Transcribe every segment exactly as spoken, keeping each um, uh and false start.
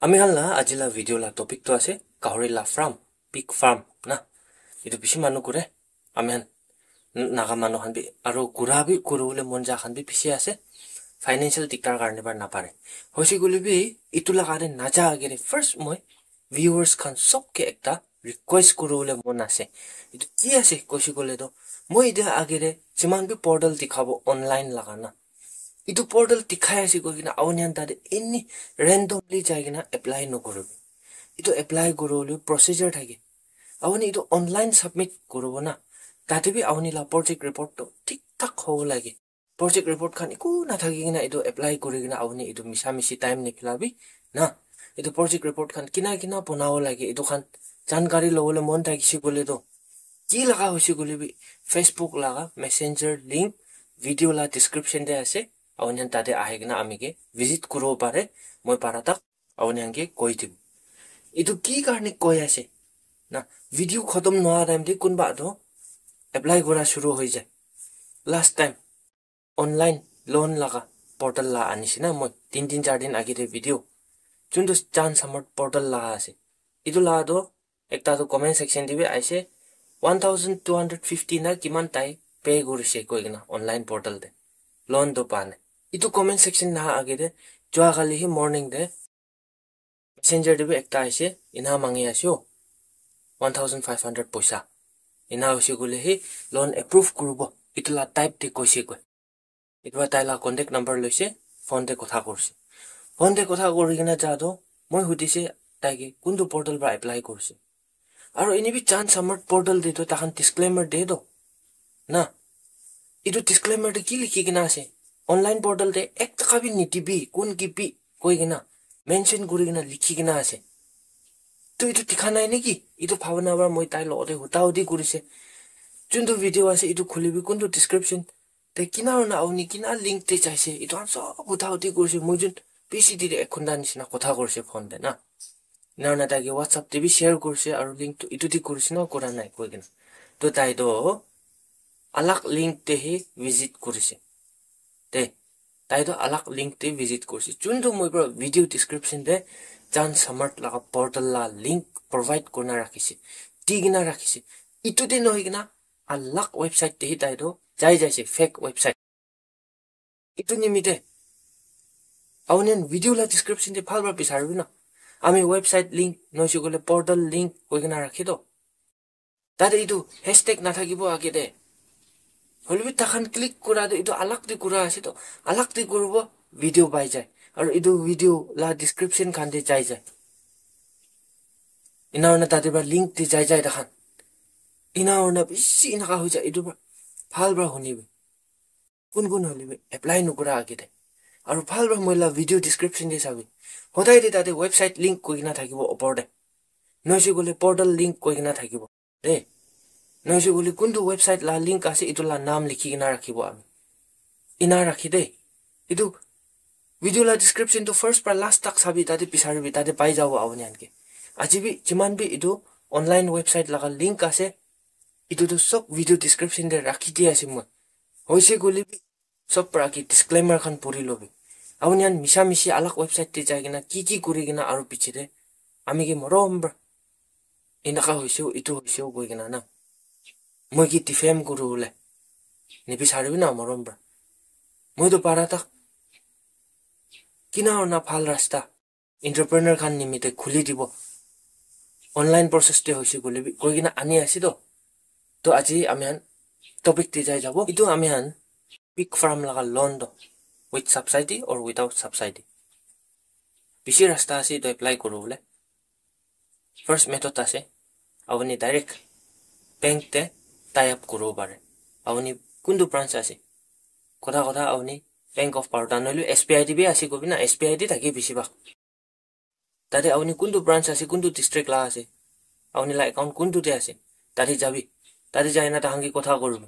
Ami khan la aji la video la topic to ase gahori la farm, pig farm na. Etu bishi manu kure. Ami khan Naga manu khan bi, aro kura bi, kuribole mon ja khan bi bishi ase. Financial diktar karne para napare. Hoise koile bi, etu laga te naja agere first moi viewers khan sob ke ekta request kuribole mon ase. Etu ki ase koise koile to, moi etia agere jiman bi portal dikhabo online laga na, etu portal dikhai ase koi kena auni khan tate any randomly jai kena apply nokuribo. Etu apply kuribole procedure thake. Auni etu online submit kuribo na, tate bi auni la project report to thik thak hobo lage. Project report khan eku nathaki kena etu apply kuri kena auni etu misa misi time nikhilabi na. Etu project report khan kina kina bonabo lage, etu khan jankari lobole mon thakise koile to, ki laga hoise koile bi, Facebook laga messenger link video la description te ase. Auni khan tate ahi kena ami ke visit kuribo pare. Moi para tak auni khan ke koi dibo. Etu ki karne koi ase na, video khotom noa time te kunba to apply kura shuru hoi jai. Last time online loan laga portal la anise na moi, tin tin char din age te video. Juntu Chan Samarth portal laga ase. Etu laga to ekta to comment section te bi aise, one thousand two hundred fifty na kiman tai pay kurise koi kena online portal te. Loan to pa nai. Etu comment section naha age te, jua kali hi morning te messenger te bi ekta aise, ena mangi ase o, one thousand five hundred poisa. Ena hoise koile hi loan approve kuribo, etu la type te koise koi. Etu para tai la contact number loise, phone te kotha kurise. Phone te kotha kuri kena ja to, moi hudise tai ke kuntu portal para apply kurise. Aro ene bi Chan Samarth portal te to takhan disclaimer de to na. Etu disclaimer te ki likhi kena ase? Online portal te ek taka bi nidibi, kun kibi koi kena mention kuri kena likhi kena ase. To etu dikha nai neki? Etu bhabana para moi tai logote huta huti kurise. Juntu video ase etu khulibi, kuntu description te kina hoina auni kina link te jaise, etu khan sob huta huti kurise. Moi jun bishi diri ek ghonta nisina kotha kurise phone te na. Ena hoina tai ke WhatsApp te bi share kurise, aro link to etu te kurise na kura nai koi kena. To tai to alag link te hi visit kurise. Te, tai to alag link te visit kurise. Juntu moi para video description te Chan Samarth laga portal la link provide kurina rakhise. Di kena rakhise. Etu te nohoi kena alag website te hi tai to jai jaise, fake website. Etu nimite auni khan video la description te bhal para bisaribi na. Ami website link, noise koile portal link koi kena rakhi to. Tate etu hashtag nathakibo age te. Hoilebi takhan click kura tu etu alag te kura ase to, alag te kuribo, video pai jai. Aru etu video la description khan te jai jai. Ena hoina tate para link te jai jai takhan. Ena hoina bishi enaka hoi jai, etu para bhal para hunibi. Kun kun hoilebi apply nokura age te. Aru bhal para moi la video description te sabi. Hodai te tate website link koi kena thakibo opor te. Noise koile portal link koi kena thakibo. De. Noise koile kuntu website la link ase, etu la naam likhi kena rakhibo ami. Ena rakhi de. Etu video la description tu first para last tak sabi, tate bisaribi, tate pai jabo auni khan ke. Aji bi jiman bi etu online website laga link ase, etu tu sob video description te rakhi di ase moi. Hoise koile bi sob para age disclaimer khan puri lobi. Auni khan misa misi alag website te jai kena ki ki kuri kena aru piche te ami ke morom para enaka hoise, etu hoise koi kena na, moi ke defame kuri bole nibisaribi na morom para. Moi to para tak kina hoina bhal rasta entrepreneur khan nimite khuli dibo. Online process te hoise koile bi koi kena ani ase to. To aji ami khan topic te jai jabo. Etu ami khan pig farm laga loan to, with subsidy or without subsidy. Bishi rasta ase etu apply kuri bole. First method ase, auni direct bank te tie up kuri bo pare. Auni kuntu branch ase? Kotha kotha auni Bank of Baroda nohole S B I te bi ase kobi na, S B I te thake bishi bhag. Tate auni kuntu branch ase, kuntu district la ase, auni la account kuntu te ase, tate jabi. Tate jai na takhan ke kotha kuribi.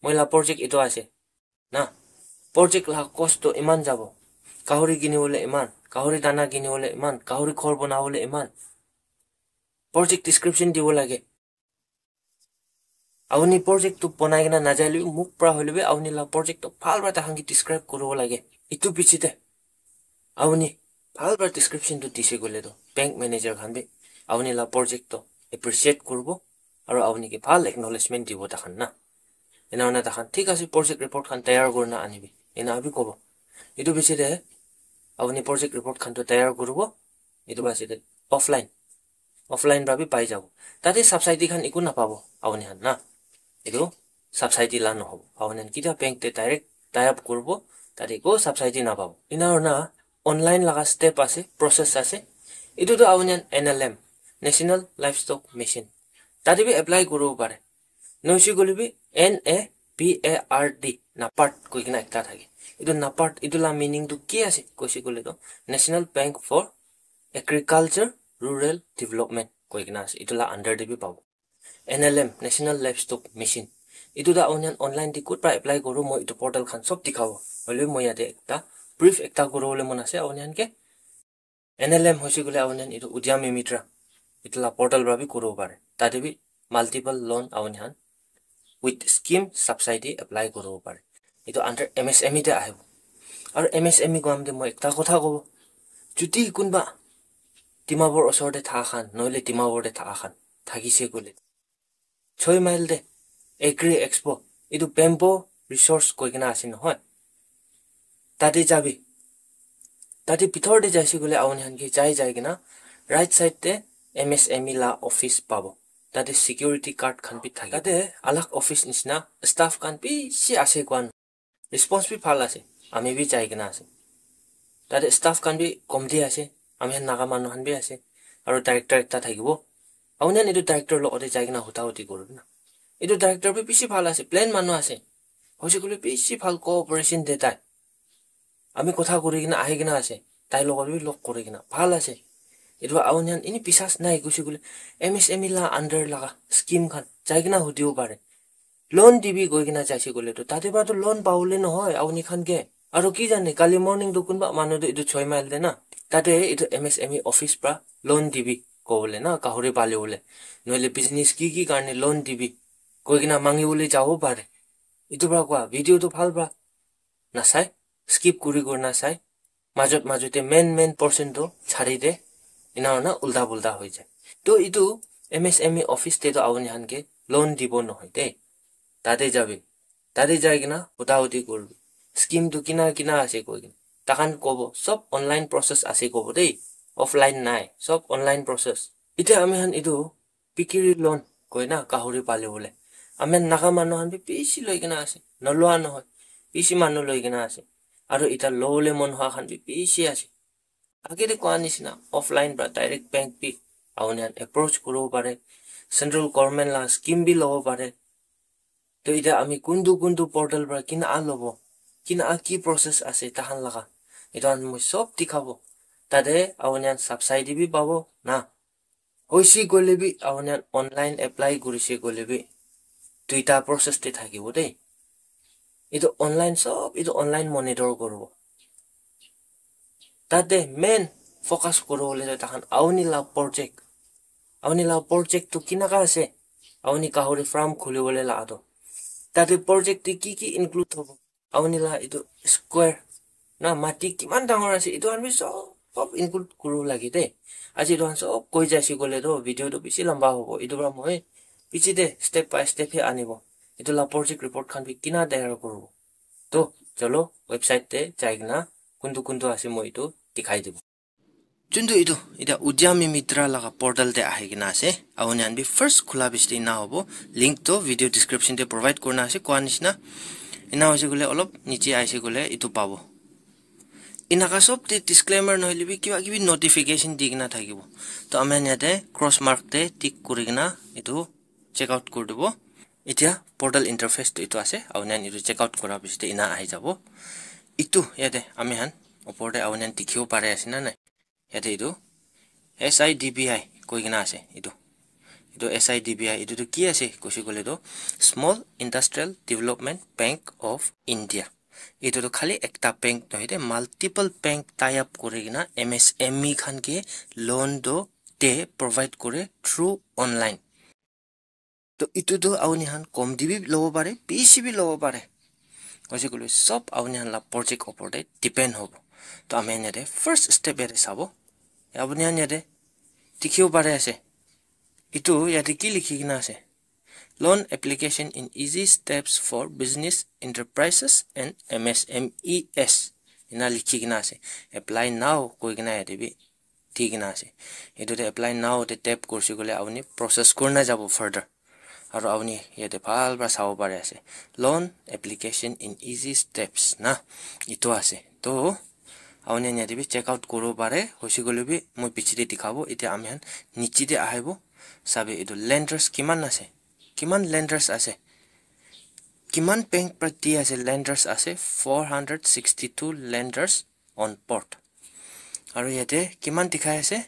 Moi la project etu ase na. Project la cost to iman jabo. Gahori kini bole iman, gahori dana kini bole iman, gahori ghor bana bole iman. Project description dibo lage. Auni project tu bonai kena najai le bi, muk pra hoile bi auni la project tu bhal pra takhan ke describe kuribo lage. Etu piche te auni Bhal para description tu dise koile tu bank manager khan bi apuni la project to appreciate kuribo, aru apuni ke bhal acknowledgement dibo takhan na. Ena hona takhan, "Thik ase, project report khan tayar kurina anibi," ena bi kobo. Etu biche de apuni project report khan to tayar kuribo. Etu biche de offline, offline para bi pai jabo. Tate subsidy khan eku napabo apuni khan na. Etu subsidy la nohobo. Apuni khan kitia bank te direct tie up kuribo, tate eku subsidy napabo. Ena hona online laga step ase, process ase. Etu tu apuni khan N L M, National Livestock Mission, tate bi apply kuribo pare. Noise koile bi N A P A R D, NAPARD koi kena ekta thake. Etu NAPARD, etu la meaning tu ki ase koise koile tu National Bank for Agriculture Rural Development koi kena ase. Etu la under te bi pabo. N L M, National Livestock Mission. Etu tu apuni khan online te kot para apply koro, moi etu portal khan sob dikhabo. Hoile moi yate ekta brief ekta koro bole mon ase apuni khan ke. N L M hoise koile apuni khan etu Udyami Mitra, etu la portal para bi kuribo pare. Tate bi multiple loan apuni khan with scheme subsidy apply kuribo pare. Etu under M S M E te ahibo. Aru M S M E koa te moi ekta kotha kobo. Jodi kunba Dimapur osor te thaka khan, nohole Dimapur te thaka khan thakise koile, Choi Mile te Agri Expo, etu Bamboo Resource koi kena ase nohoi. Tate jabi. Tate bithor te jaise koile apuni khan ke jai jai kena right side te M S M E la office pabo. Tate security guard khan bi thake. Tate alag office nishina staff khan bishi ase koan. Response bi bhal ase. Ami bi jai kena ase. Tate staff khan bi komti ase. Ami khan Naga manu khan bi ase. Aru director ekta thakibo. Apuni khan etu director logote jai kena huta huti kuribi na. Etu director bi bishi bhal ase. Plain manu ase. Hoise koile bishi bhal cooperation de tai. Ami kotha kuri kena ahi kena ase. Tai logot bi log kuri kena. Bhal ase. Etu apuni khan eni biswas nai koise koile M S M E la under laga scheme khan jai kena hudibo pare. Loan dibi koi kena jaise koile tu, tate para tu loan pabole nohoi apuni khan ke. Aru ki jane, kali morning tu kunba manu tu etu Choi Mile te na, tate etu M S M E office para loan dibi kobole na, gahori palibole, nohole business ki ki karne loan dibi koi kena mangibole jabo pare. Etu para koa, video tu bhal para nasai, skip kuri kuri nasai, majot majot te main main portion tu chari de, ena hona ulta pulta hoi jai. To etu M S M E office te tu apuni khan ke loan dibo nohoi de. Tate jabi. Tate jai kena huta huti kuribi. Scheme tu kina kina ase koi kena. Takhan kobo, sob online process ase kobo de. Offline nai, sob online process. Etia ami khan etu pikiri loan koi na gahori palibole. Ami khan Naga manu khan bi bishi loi kena ase. Nolua nohoi. Bishi manu loi kena ase. Aru eta lobole mon hua khan bi bishi ase. Age te koa nishina offline para direct bank bi apuni khan approach kuribo pare. Central government la scheme bi lobo pare. To eta ami kuntu kuntu portal para kina lobo, kina ki process ase tahan laga, etu khan moi sob dikhabo. Tate apuni khan subsidy bi pabo na. Hoise koile bi apuni khan online apply kurise koile bi duita process te thakibo de. Etu online sob, etu online monitor kuribo. Tate main focus kuribole tu tahan apuni la project. Apuni la project tu kinaka ase? Apuni gahori farm khulibole la tu. Tate project te ki ki include hobo? Apuni la etu square na mati kiman dangor ase, etu khan bi sob, sob include kuribo lage de. Aji etu khan sob koi jaise koile tu video tu bishi lamba hobo. Etu para moi piche te step by step he anibo. Etu la project report khan bi kina tayar kuribo. To, chalo, website te jai kena kuntu kuntu ase moi etu dikhai dibo. Juntu etu, eta Udyami Mitra laga portal te ahi kena ase. Apuni khan bi first khula bishi te ena hobo. Link to video description te provide kurina ase, koa nishina. Ena hoise koile olop niche ahise koile etu pabo. Enaka sob te disclaimer nohole bi kiba kibi notification di kena thakibo. To ami khan yate cross mark te tick kuri kena etu check out kuri dibo. Etia portal interface tu etu ase, apuni khan etu check out kura piche te ena ahi jabo. Etu yate ami khan upor te apuni khan dikhibo pare ase na nai? Yate etu S I D B I koi kena ase etu. Etu S I D B I etu tu ki ase koise koile tu Small Industrial Development Bank of India. Etu tu khali ekta bank nohoi de, multiple bank tie up kuri kena M S M E khan ke loan do te provide kore through online. To etu tu apuni khan kom te bi lobo pare, bishi bi lobo pare. Koise koile sob apuni khan la project opor te depend hobo. To ami khan yate first step yate sabo. Apuni khan yate dikhibo pare ase. Itu yate ki likhi kena ase? Loan application in easy steps for business enterprises and M S M Es. Ina likhi kena ase. Apply now koi kena yate bi di kena ase. Itu te apply now te tap kurse koile apuni process kurna jabo further. Aru apuni yate bhal para sabo pare ase. Loan application in easy steps na. Itu ase. To apuni khan yate bi check out kuribo pare. Hoise koile bi moi piche te dikhabo. Etiya ami khan niche te ahibo. Sabi itu lenders kiman ase? Kiman lenders ase? Kiman bank para di ase? Lenders ase four hundred sixty-two lenders on board. Aru yate kiman dikhai ase?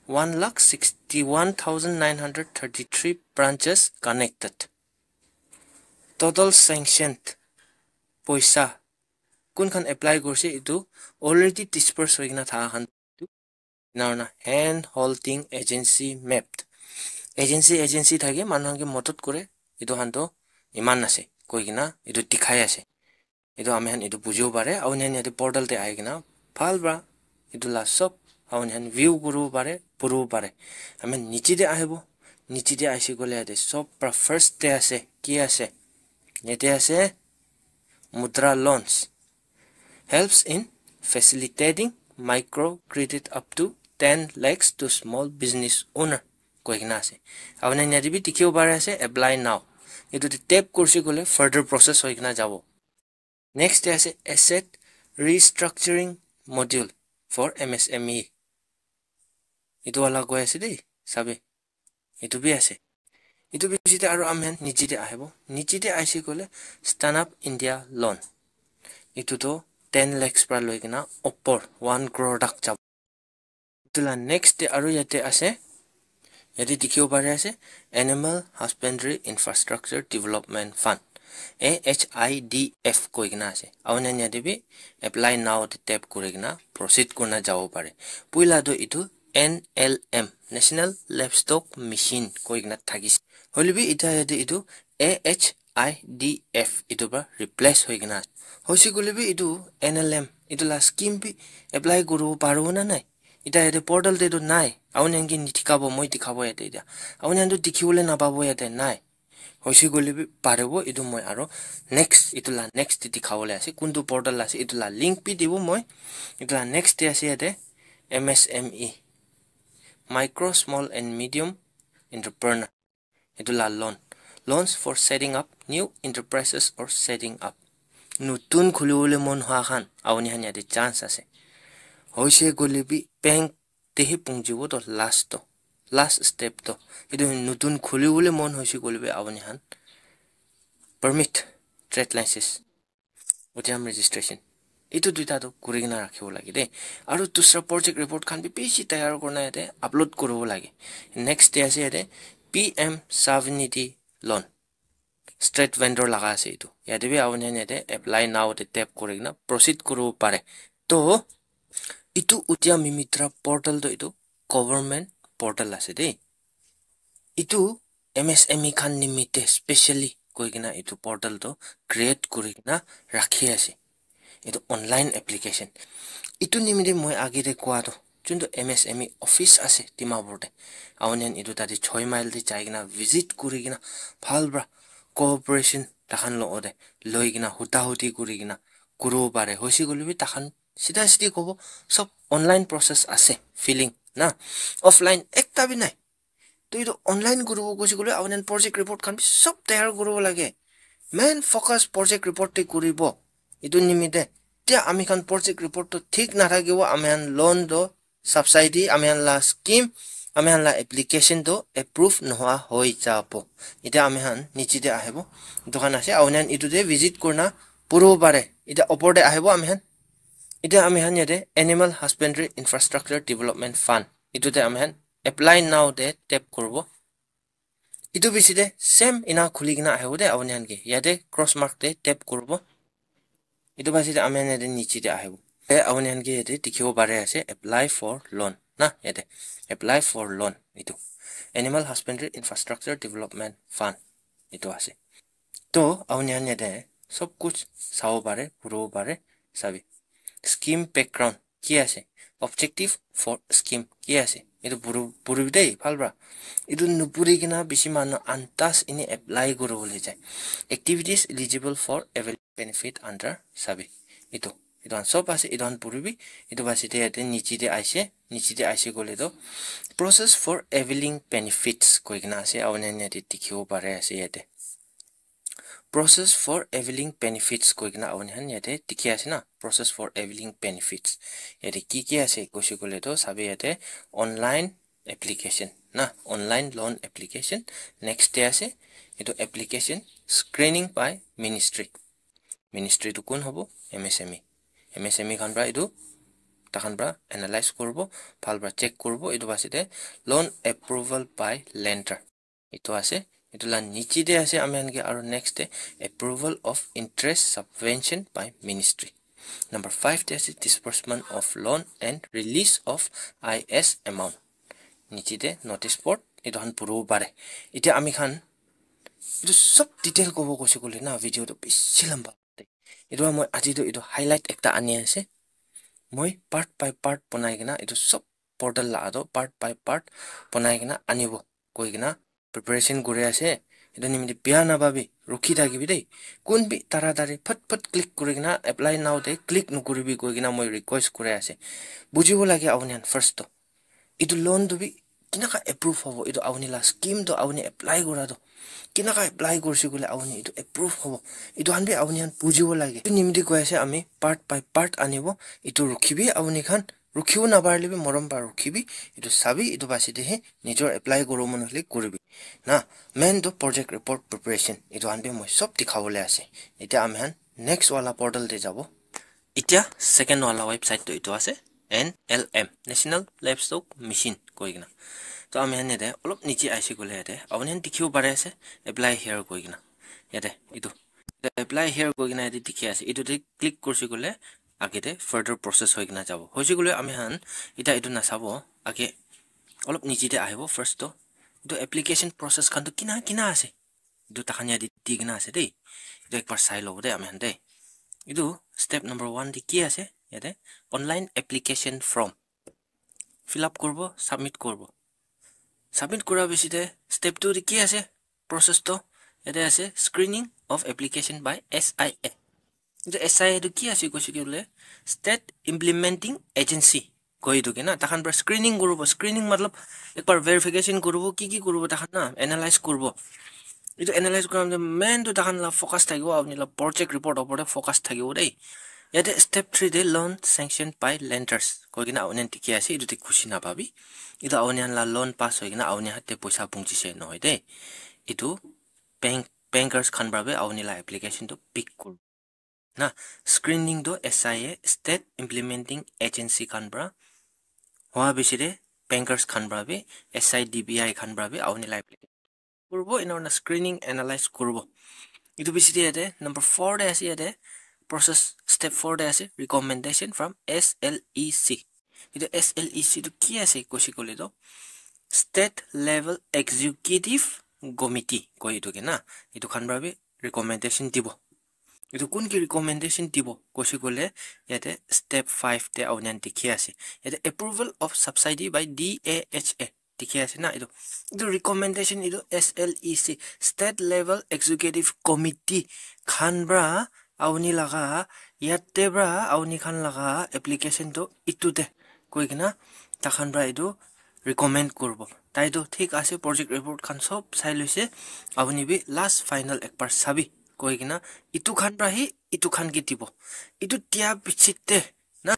One lakh sixty-one thousand nine hundred thirty-three branches connected. Total sanctioned poisa kun khan apply kurse itu already disperse hoi kena thaka khan. Ena hoina hand holding agency mapped. Agency, agency thake manu khan ke modot kore. Itu khan to iman ase koi kena itu dikhai ase. Itu ami khan itu bujibo pare. Apuni khan yate portal te ahi kena bhal para itu la sob apuni khan view kuribo pare, puribo pare. Ami khan niche te ahibo. Niche te ahise koile yate sob para first te ase. Ki ase? Yate ase Mudra Loans. Helps in facilitating micro credit up to ten lakhs to small business owner. Koi kena ase. Apuni khan yate bi dikhibo pare ase, apply now. Itu te tap kurse koile further process hoi kena jabo. Next te ase asset restructuring module for M S M E. Itu wala koi ase dei, sabi. Itu bi ase. Itu bi ase te aru ami khan niche te ahibo. Niche te ahise koile Stand Up India Loan. Itu to ten lakhs para loi kena upor one crore tak jabo. Itu la next te aru yate ase. Yate dikhibo pare ase Animal Husbandry Infrastructure Development Fund, A H I D F koi kena ase. Apuni khan yate bi apply now te tap kuri kena proceed kurna jabo pare. Puila to itu N L M, National Livestock Mission koi kena thakise. Hoile bi etiya yate itu A H I D F itu para replace hoi kena ase. Hoise koile bi itu N L M itu la scheme bi apply kuribo paribo na nai? Etiya yate portal te tu nai. Apuni khan ke nidikhabo, moi dikhabo yate etiya. Apuni khan tu dikhibole napabo yate nai. Hoise koile bi paribo, itu moi aro next, itu la next te dikhabole ase. Kuntu portal ase, itu la link bi dibo moi. Itu la next te ase yate M S M E, Micro, Small and Medium Entrepreneur. Itu la loan. Loans for setting up new enterprises or setting up. Nutun khulibole mon hua khan, apuni khan yate chance ase. Hoise koile bi bank te hi pungjibo to last to, last step to. Itu nutun khulibole mon hoise koile bi apuni khan permit, trade license, udyam registration, itu duita to kuri kena rakhibo lage de. Aru dusra project report khan bi bishi tayar kurina yate upload kuribo lage. Next te ase yate P M Svanidhi loan. State vendor laga ase itu. Yate bi apuni khan yate apply now te tap kuri kena proceed kuribo pare. To itu Udyam Mitra portal to itu government portal ase de. Itu M S M E khan nimite specially koi kena itu portal to create kuri kena rakhi ase. Itu online application. Itu nimite moi age te koa to, juntu M S M E office ase Dimapur te, apuni khan itu tate choi mile te jai kena visit kuri kena bhal para cooperation takhan logote loi kena huta huti kuri kena kuribo pare. Hoise koile bi takhan sida sidi kobo, sob online process ase, filling na, offline ekta bi nai. To itu online kuribo koise koile apuni khan project report khan bi sob tayar kuribo lage. Main focus project report te kuribo. Itu nimite tia ami khan project report to thik nathakibo, ami khan loan to subsidy, ami khan la scheme, ami khan la application to approve nohua hoi jabo. Etiya ami khan niche te ahibo. Dukan ase, apuni khan itu te visit kurina puribo pare. Etiya opor te ahibo ami khan. Etiya ami khan yate Animal Husbandry Infrastructure Development Fund. Itu te ami khan apply now te tap kuribo. Itu bishi te same ena khuli kena ahibo de apuni khan ke. Yate cross mark te tap kuribo. Itu bishi te ami khan yate niche te ahibo. Te apuni khan ke yate dikhibo pare ase apply for loan na yate. Apply for loan itu. Animal Husbandry Infrastructure Development Fund itu ase. To apuni khan yate sob kuch sabo pare, kuribo pare, sabi. scheme background ki ase, objective for scheme ki ase, etu puri puribi dei bhal para. Etu nupuri kena bishi manu antas ini apply kuribole jai. Activities eligible for avail benefit under sabi. Etu, etu khan sob ase, etu khan puribi. Etu basi te yate niche te aise, niche te aise koile toh process for availing benefits koi kena ase, apuni khan yate dikhibo pare ase yate. Process for availing benefits koi kena apuni khan yate dikhi ase na, process for availing benefits. Yate ki ki ase koise koile toh sabi yate online application na, online loan application. Next te ase etu application screening by ministry. Ministry tu kun hobo? M S M E. M S M E khan para etu takhan para analyze kuribo, bhal para check kuribo. Etu basi te loan approval by lender. Etu ase, etu la niche te ase ami khan ke, aru next te approval of interest subvention by ministry. Number five te ase disbursement of loan and release of I S amount. Niche te notice board, etu khan puribo pare. Etia ami khan etu sob detail kobo koise koile na, video tu bishi lamba. Etu para moi aji tu etu highlight ekta ani ase. Moi part by part banai kena etu sob portal la toh part by part banai kena anibo koi kena preparation kuri ase. Etu nimite bia napabi, rukhi thakibi dei. Kun bi taratari phat phat click kuri kena apply now te click nukuribi koi kena moi request kuri ase. Bujibo lage apuni khan first toh. Etu loan tu bi kinaka approve hobo, etu apuni la scheme tu apuni apply kura tu kinaka apply kurse koile apuni etu approve hobo, etu khan bi apuni khan bujibo lage. Etu nimite koi ase ami part by part anibo, etu rukhibi apuni khan, rukhibo naparile bi morom para rukhibi, etu sabi, etu basi te he nijor apply kuribo mon hoile kuribi na. Main tu project report preparation, etu khan bi moi sob dikhabole ase. Etia ami khan next wala portal te jabo. Etia second wala website tu etu ase, N L M, National Livestock Mission koi kena. To ami khan yate olop niche aise koile yate apuni khan dikhibo pare ase, apply here koi kena. Yate etu apply here koi kena yate dikhi ase. Etu te click kurse koile age te further process hoi kena jabo. Hoise koile ami khan eta etu nasabo, age olop niche te ahibo first to. Etu application process khan tu kina kina ase, etu takhan yate di kena ase dei. Etu ekbar sai lobo dei ami khan dei. Etu step number one te ki ase? Yate online application form fill up kuribo, submit kuribo. Submit kura piche te step two te ki ase? Process to yate ase screening of application by S I A. Etu S I A tu ki ase koise koile State Implementing Agency koi etu ke na, takhan para screening kuribo. Screening matlab ekbar verification kuribo, ki ki kuribo takhan na, analyze kuribo. Etu analyze kura main tu takhan la focus thakibo, apuni la project report opor te focus thakibo dei. Yate step three te loan sanction by lenders koi kena apuni khan dikhi ase, etu te khushi napabi. Etu apuni khan la loan pass hoi kena apuni khan te poisa punchise nohoi dei. Etu bank, bankers khan para bi apuni la application tu pick kuribo. Na, screening tu S I A, State Implementing Agency khan para hoa piche te bankers khan para bi, S I D B I khan para bi apuni la application kuribo, ena hoina screening analyze kuribo. Etu piche te yate number four te ase, yate process step four te ase, recommendation from S L E C. Etu S L E C tu ki ase koise koile to State Level Executive Committee koi etu ke na, etu khan para bi recommendation dibo. Etu kun ki recommendation dibo koise koile yate step five te apuni khan dikhi ase. Yate approval of subsidy by D A H A dikhi ase na. Etu, etu recommendation etu S L E C, State Level Executive Committee khan para apuni laga, yate para apuni khan laga application tu etu te koi kena takhan para etu recommend kuribo. Tai tu thik ase, project report khan sob sai loise, apuni bi last final ekbar sabi koi kena etu khan para hi etu khan ke dibo. Etu dia piche te na,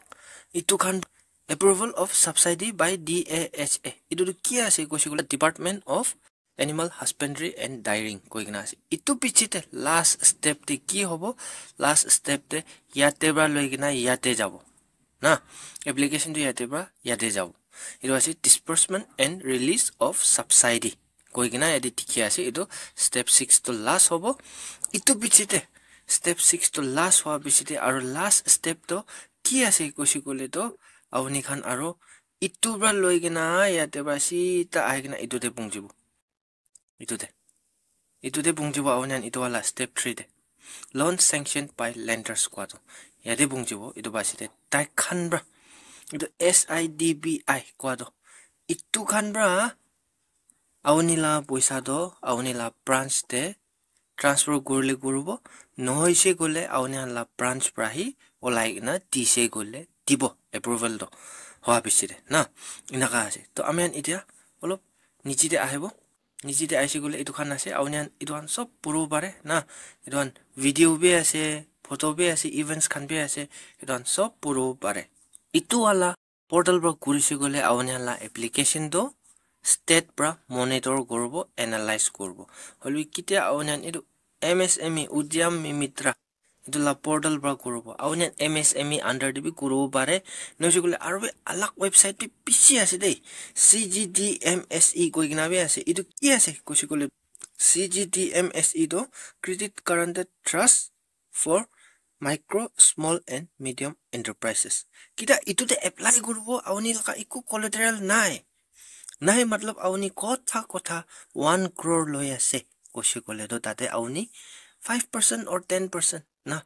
etu khan approval of subsidy by D A H A. Etu tu ki ase koise koile Department of Animal Husbandry and Dairying koi kena ase. Etu piche te last step te ki hobo? Last step te yate para loi kena yate jabo. Na, application tu yate para yate jabo. Etu ase disbursement and release of subsidy koi kena yate dikhi ase. Etu step six tu last hobo. Etu piche te step six tu last hoa piche te aru last step tu ki ase koise koile to apuni khan aru etu para loi kena yate para sita ahi kena etu te punchibo. Etu te, etu te punchibo apuni khan etu wala step three te. Loan sanction by lenders kua tu. yate punchibo, etu basi te tai khan pra, etu S I D B I koa toh, etu khan pra auni la poisa toh auni la branch te transfer kurile kuribo, nohoise koile auni khan la branch pra hi olai kena dise koile dibo, approval toh hoa piche te na, enaka ase. Toh ami khan etia olop niche te ahibo, niche te ahise koile etu khan ase, auni khan etu khan sob puribo pare na, etu khan video bi ase, photo bi ase, events khan bi ase, etu khan sob puribo pare. Etu wala portal pra kurise koile auni khan la application toh state pra monitor kuribo, analyze kuribo. Hoilebi ketia auni khan etu M S M E, Udyam Mitra, etu la portal pra kuribo. Auni khan M S M E under te bi kuribo pare. Nohoise koile aru bi alag website bi bishi ase dei. C G T M S E koi kena bi ase. Etu ki ase koise koile, C G T M S E toh Credit Guarantor Trust for Micro, Small and Medium Enterprises. Kita etu te apply kuribo, auni laga eku collateral nai. Nai matlab auni kotha kotha one crore loi ase koise koile toh tate auni five percent or ten percent na,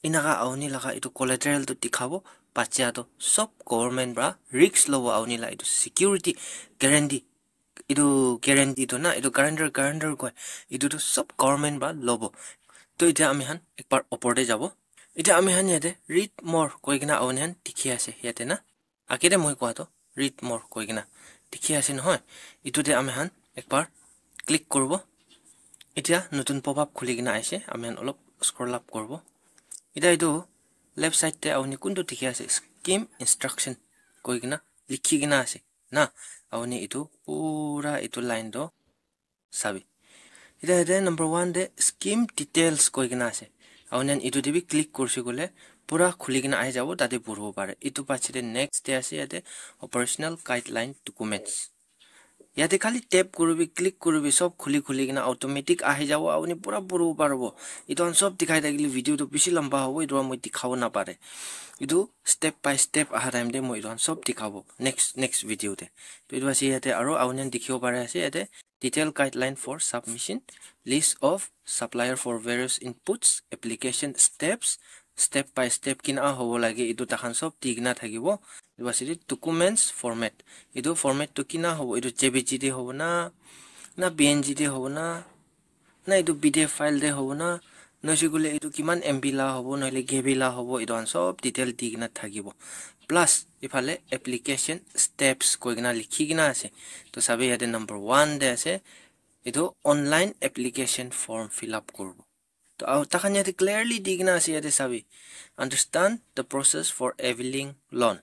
enaka auni laga etu collateral toh dikhabo, bacha toh sob government pra risk lobo, auni la etu security guarantee, etu guarantee toh na, etu guarantor, guarantor koi, etu toh sob government pra lobo. Toh etia ami khan ekbar opor te jabo. Etia ami khan yate read more koi kena auni khan dikhi ase yate na. Age te moi koa toh read more koi kena dikhi ase nohoi. Etu te ami khan ekbar click kuribo. Etia notun pop up khuli kena aise, ami khan olop scroll up kuribo. Etia etu left side te auni kuntu dikhi ase, scheme instruction koi kena likhi kena ase na. Auni etu pura etu line toh sabi. Etia yate number one te scheme details koi kena ase. Auni khan etu te bi click kurise koile pura khuli kena ahi jabo, tate puribo pare. Etu pache te next te ase yate operational guideline documents. Yate khali tap kuribi, click kuribi, sob khuli khuli kena automatic ahi jabo, auni pura puribo paribo. Etu khan sob dikhai thakile video toh bishi lamba hobo, etu para moi dikhabo napare. Etu step by step aha time te moi etu khan sob dikhabo next, next video te. Toh etu ase yate aru auni khan dikhibo pare ase yate detail guideline for submission, list of supplier for various inputs, application steps, step by step kina hobo lage, etu takhan sob di kena thakibo. Etu ase de documents format. Etu format tu kina hobo, etu J P G te hobo na, na P N G te hobo na, na etu P D F file te hobo na, noise koile etu kiman M B la hobo, nohole K B la hobo, etu khan sob detail di kena thakibo. Plus, ephale application steps koi kena likhi kena ase. To sabi yate number one te ase, etu online application form fill up kuribo. To, aru takhan yate clearly di kena ase, yate sabi, "Understand the process for availing loan."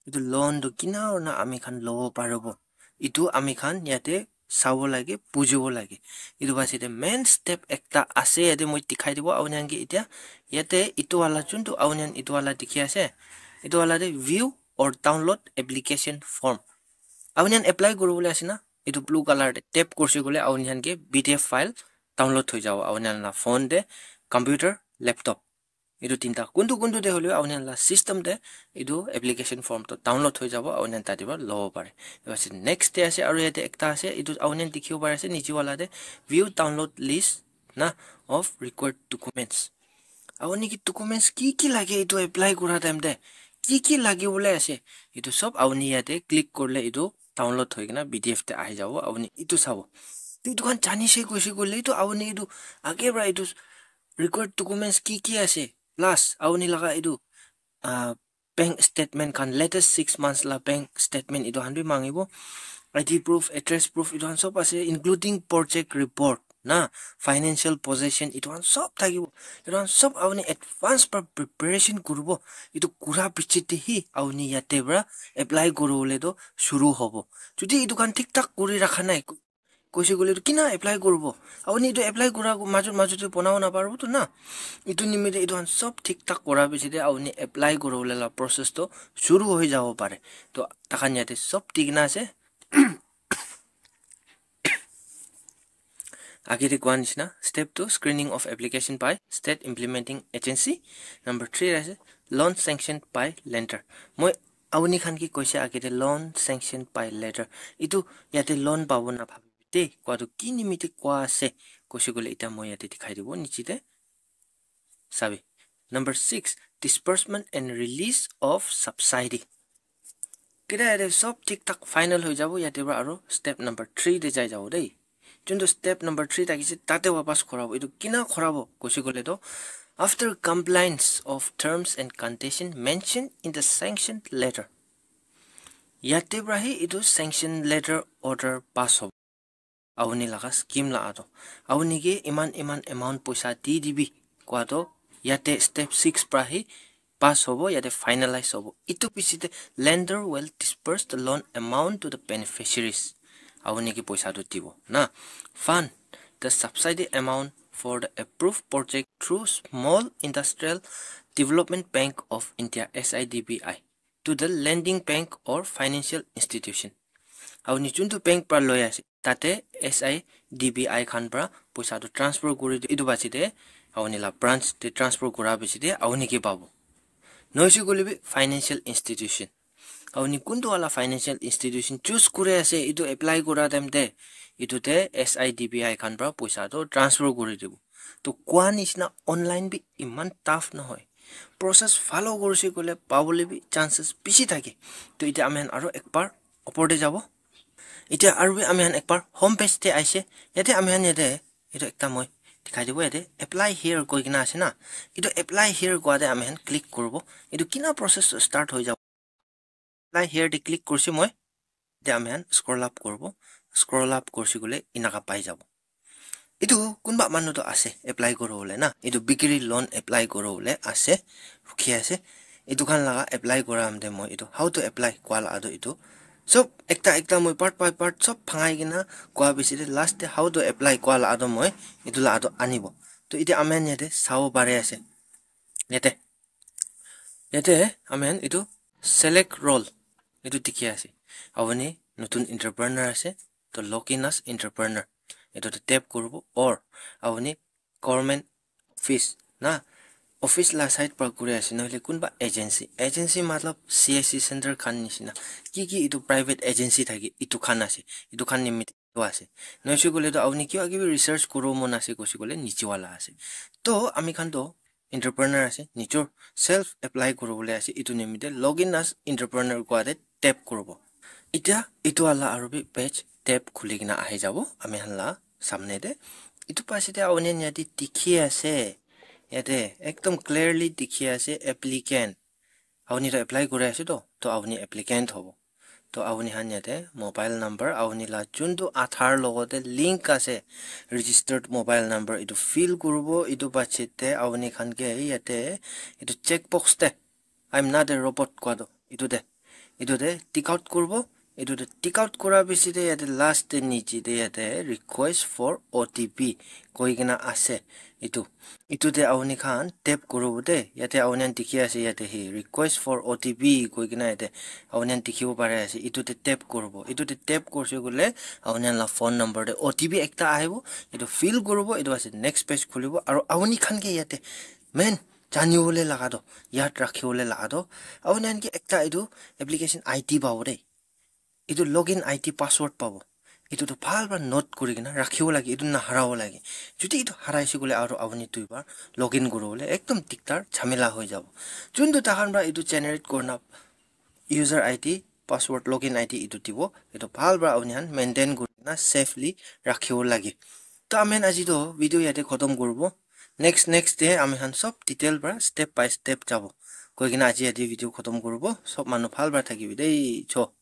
Etu loan tu kina hoina ami khan lobo paribo, etu ami khan yate sabo lage, bujibo lage. Etu base te main step ekta ase, yate moi dikhai dibo auni khan ke etia. Yate etu wala, juntu auni khan etu wala dikhi ase, etu wala te view or download application form. Auni khan apply kuribole ase na, etu blue color te tap kurise koile auni khan ke P D F file download hoi jabo auni khan la phone te, computer, laptop. Etu tinta kuntu kuntu te hoile auni khan la system te etu application form to download hoi jabo, auni khan tate para lobo pare. Etu ase next te ase, aru yate ekta ase, etu auni khan dikhibo pare ase niche wala te view download list na of required documents. Auni ke documents ki ki lage etu apply kura time te, ki ki lage bole ase, etu sob auni yate click korile etu download hoi kena P D F te ahi jabo, auni etu sabo. To etu khan jani se koise koile etu auni etu age para etu required documents ki ki ase, plus auni laga etu, ah, bank statement khan, latest six months la bank statement etu khan bi mangibo, I D proof, address proof, etu khan sob ase, including project report na, financial position, etu khan sob thakibo. Etu khan sob auni advance para preparation kuribo. Etu kura piche te hi auni yate para apply kuribole to shuru hobo. Jodi etu khan thik thak kuri rakha nai, koise koile tu kina apply kuribo? Auni etu apply kura majot majot te bonabo naparibo tu na. Etu nimite etu khan sob thik thak kura piche te auni apply kuribole la process to shuru hoi jabo pare. To takhan yate sob di kena ase. Age te koa nishina, step two, screening of application by state implementing agency. Number three ase, loan sanctioned by lender. Moi auni khan ke koise age te loan sanctioned by lender. Etu yate loan pabo na bhabi te koa tu ki nimite koa ase koise koile eta moi yate dikhai dibo niche te. Sabi. Number six, disbursement and release of subsidy. Kida yate sob thik thak final hoi jabo, yate para aro step number three te jai jabo dei. Juntu step number three thakise tate wapas khorabo. Etu kina khorabo koise koile to, after compliance of terms and condition mentioned in the sanctioned letter. Yate para hi etu sanction letter order pass hobo. Auni laga scheme la ato. Auni ke iman iman amount poisa di dibi koa to yate step six para hi pass hobo, yate finalize hobo. Itu pichete lender will disburse the loan amount to the beneficiaries. Auni ke poisa tu dibo na. Fund the subsidy amount for the approved project through Small Industrial Development Bank of India, S I D B I, to the lending bank or financial institution. Auni juntu bank para loi ase, tate S I D B I khan para poisa tu transfer kuri di. Itu pichete auni la branch te transfer kura pichete auni ke pabo. Noise koile bi financial institution. Auni kuntu wala financial institution choose kuri ase, itu apply kura time te, itu te S I D B I khan para poisa tu transfer kuri dibo. To koa nishina online bi iman tough nohoi. Process follow kurise koile pabole bi chances bishi thake. To itya ami khan aro ekbar opor te jabo. Itya aro bi ami khan ekbar home page te aise. Yate ami khan yate itu ekta moi dikhai dibo, yate apply here koi kena ase na. Itu apply here koa te ami khan click kuribo. Itu kina process start hoi jabo. Apply here te click kurse moi. Te ami khan scroll up kuribo. Scroll up kurse koile inaka pai jabo. Itu kunba manu to ase apply kuribole na. Itu bikiri loan apply kuribole ase. Rukhi ase. Itu khan laga apply kura amte moi itu how to apply koa la ado itu. Sob ekta ekta moi part by part sob bhangai kena koa pichete last te how to apply koa la ado moi itu la ado anibo. To itya ami khan yate sabo pare ase. Yate. Yate ami khan itu select role itu dikhi ase. Auni notun entrepreneur ase. To log in as entrepreneur. Itu te tap kuribo or auni government office na, office la side para kuri ase nohole kunba agency. Agency matlab C S C center khan nishina. Ki ki itu private agency thake itu khan ase. Itu khan nimite ase. Noise koile to auni kiba kibi research kuribo mon ase koise koile niche wala ase. To ami khan to entrepreneur ase, nijor self apply kuribole ase, itu nimite log in as entrepreneur koa te tap kuribo. Itya itu wala aro bi page tap khuli kena ahi jabo ami khan la samne te. Itu pichete auni khan yate dikhi ase, yate ekdom clearly dikhi ase applicant. Auni to apply kuri ase to, to auni applicant hobo. To auni khan yate mobile number, auni la juntu Aadhaar logote link ase, registered mobile number, itu fill kuribo, itu pichete auni khan ke yate itu check box te, "I'm not a robot" koa to, itu te, itu te tick out kuribo, itu te tick out kura pichete yate last te niche te yate "Request for O T P" koi kena ase. Itu, itu te auni khan tap kuribo de, yate auni khan dikhi ase, yate hi "Request for O T P" koi kena yate auni khan dikhibo pare ase. Itu te tap kuribo, itu te tap kurse koile auni khan la phone number te O T P ekta ahibo, itu fill kuribo, itu ase next page khulibo, aro auni khan ke yate main janibole laga to, yad rakhibole laga to, auni khan ke ekta itu application I D pabo de. Itu login I D password pabo. Itu to bhal para note kuri kena rakhibo lage, itu naharabo lage. Jodi itu haraise koile aro auni duibar login kuribole ekdom dikdar jhamela hoi jabo. Juntu takhan para itu generate kurina user I D, password, login I D itu dibo. Itu bhal para auni khan maintain kuri kena safely rakhibo lage. To ami khan aji to video yate khotom kuribo. Next, next day ami khan sob detail para step by step jabo. Koi kena aji yate video khotom kuribo. Sob manu bhal para thakibi dei. Cho.